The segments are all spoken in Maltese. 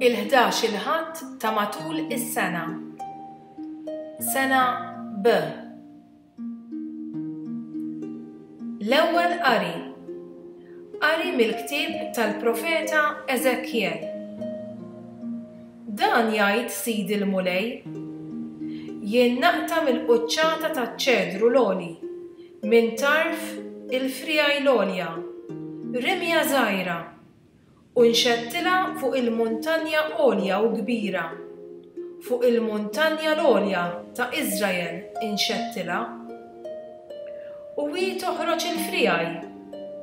Il-ħdax-il Ħadd ta' matul is-sena. Sena B. L-Ewwel Qari. Qari mill-ktieb tal-profeta Eżekjel. Dan jgħid Sidi l-Mulej, Jien naqta' mill-quċċata taċ-ċedru l-għoli, minn tarf il-friegħi l-għolja, rimja żgħira, U nxettilha fuq il-muntanja għolja u kbira, fuq il-muntanja l-għolja ta' Iżrael inxettilha. U hi toħroġ il-friegħi,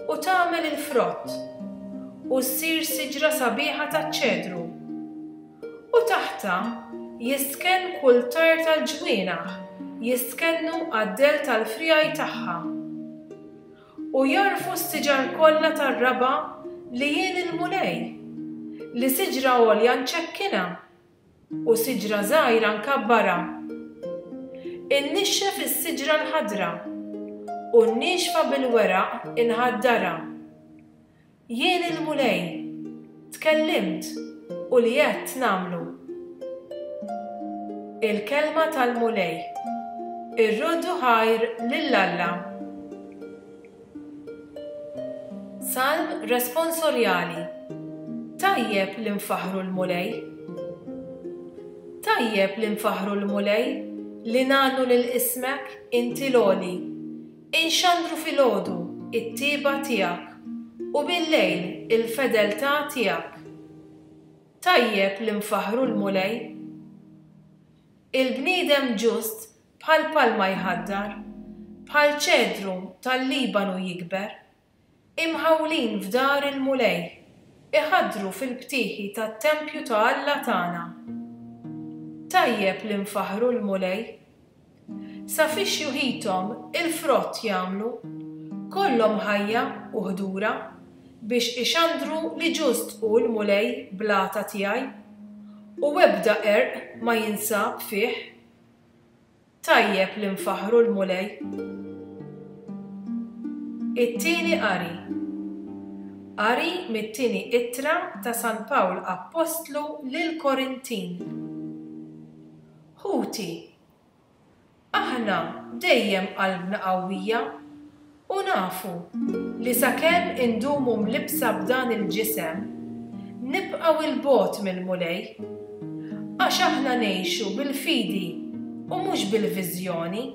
u tagħmel il-frott, u ssir siġra sabiħa taċ-ċedru. U taħtha jistkenn kull tajr tal-ġwienaħ, jistkennu għad-dell tal-friegħi tagħha. U jagħrfu s-siġar kollha tar-raba' li jien il-Mulej, li siġra għolja nċekkinha, u siġra żgħira nkabbarha. Innixxef is-siġra l-ħadra, u n-niexfa bil-weraq inħaddarha. Jien il-Mulej, tkellimt u li għedt nagħmlu. Il-Kelma tal-Mulej. Irroddu ħajr lil Alla. Salm Responsorjali Tajjeb li nfaħħru l-Mulej. Tajjeb li nfaħħru l-Mulej, li ngħannu lil ismek, inti l-Għoli. Inxandru filgħodu t-tjieba tiegħek u billejl il-fedeltà tiegħek. Tajjeb li nfaħħru l-Mulej. Il-bniedem ġust bħal palma jħaddar, bħal ċedru tal-Libanu jikber. Imħawlin f'dar il-Mulej, iħaddru fil-btieħi tat-tempju ta' Alla tagħna. Tajjeb li nfaħħru l-Mulej. Sa fi xjuħithom il-frott jagħmlu, kollhom ħajja u ħdura, biex ixandru li ġust hu l-Mulej blata tiegħi, u ebda qerq ma jinsab fih. Tajjeb li nfaħħru l-Mulej. It-tieni qari. Qari mit-tieni ittra ta' San Pawl Appostlu lill-Korintin. Ħuti, aħna dejjem qalbna qawwija U nafu li sakemm indumu mlibbsa b'dan il-ġisem, nibqgħu 'l bogħod mill-Mulej. Għax aħna ngħixu bil-fidi u mhux bil-viżjoni.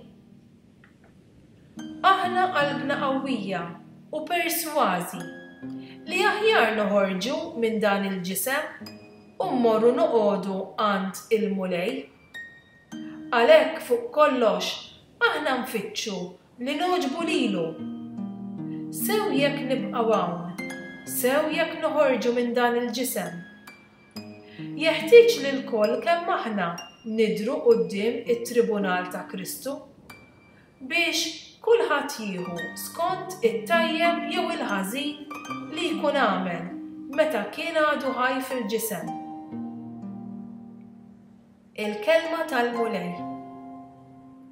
Aħna qalbna qawwija u persważi li aħjar noħorġu minn dan il-ġisem u mmorru noqogħdu għand il-Mulej. Għalhekk fuq kollox aħna nfittxu li nogħġbu lilu. Sew jekk nibqgħu hawn, sew jekk noħorġu minn dan il-ġisem. Jeħtieġ li lkoll kemm aħna nidhru quddiem it-tribunal ta' Kristu, biex kulħadd jieħu skont it-tajjeb jew il-ħażin li jkun għamel meta kien għadu ħaj fil-ġisem. Il-Kelma tal-Mulej.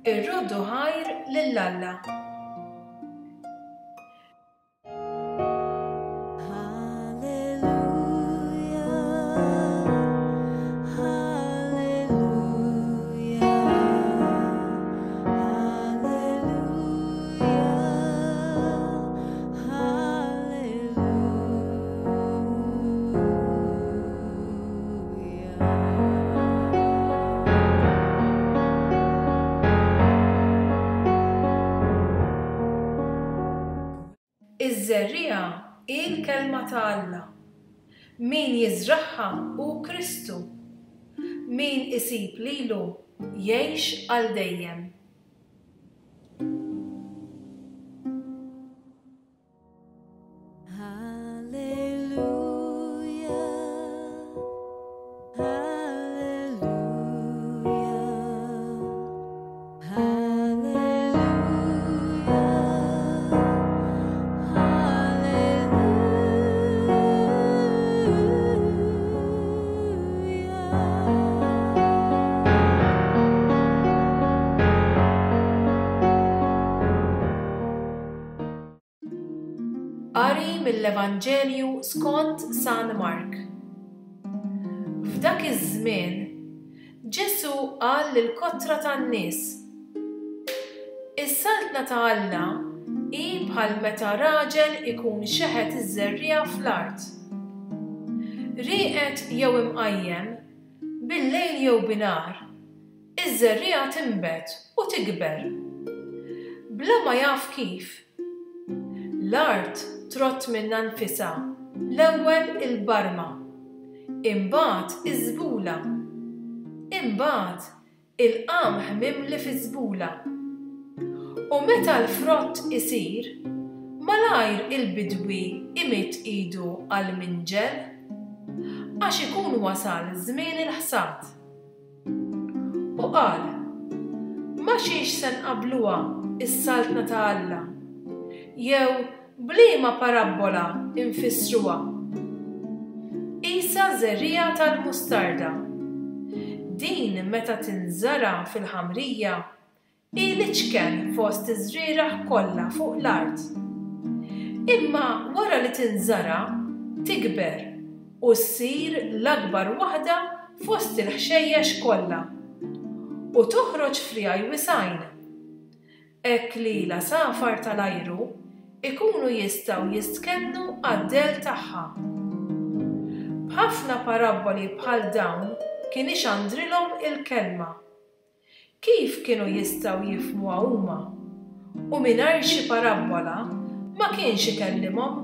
Irroddu ħajr lil Alla. Iż-żerriegħa hi l-Kelma ta' Alla. Min jiżragħha hu Kristu. Min isib lilu jgħix għal dejjem. Qari mill-Evanġelju skont San Mark. iż-żmien, Ġesù qal lill-kotra tan-nies, Is-Saltna ta' Alla hi bħal meta raġel ikun xeħet iż-żerriegħa fl-art. Rieqed jew imqajjem, billejl jew binhar, iż-żerriegħa tinbet u tikber. Bla ma jaf kif. L-art trott minnha nfisha l-ewwel il-barma, imbagħad iż-żbula, imbagħad il-qamħ mimli fiż-żbula. U meta l-frott isir, malajr il-bidwi imidd idu għall-minġel, għax ikun wasal żmien il-ħsad. U qal, Ma' xiex se nqabbluha s-Saltna ta' Alla? Jew b'liema parabbola nfissruha? Qisha żerriegħa tal-mustarda. Din meta tinżara' fil-ħamrija, Hi l-iċken fost iż-żrieragħ kollha fuq l-art. Imma wara li tinżara', tikber u ssir l-akbar waħda fost il-ħxejjex kollha, u toħroġ friegħi wisgħin, hekk li l-għasafar tal-ajru ikunu jistgħu jistkennu għad-dell tagħha. B'ħafna parabboli bħal dawn kien ixandrilhom il-kelma. Kif kienu jistgħu jifhmuha huma? U mingħajr xi parabbola ma kienx ikellimhom.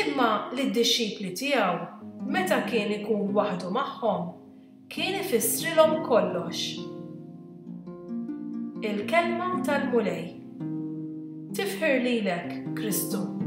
Imma lid-dixxipli tiegħu, meta kien ikun waħdu magħhom, kien ifissrilhom kollox. Il-Kelma tal-Mulej. Tifħir lilek, Kristu.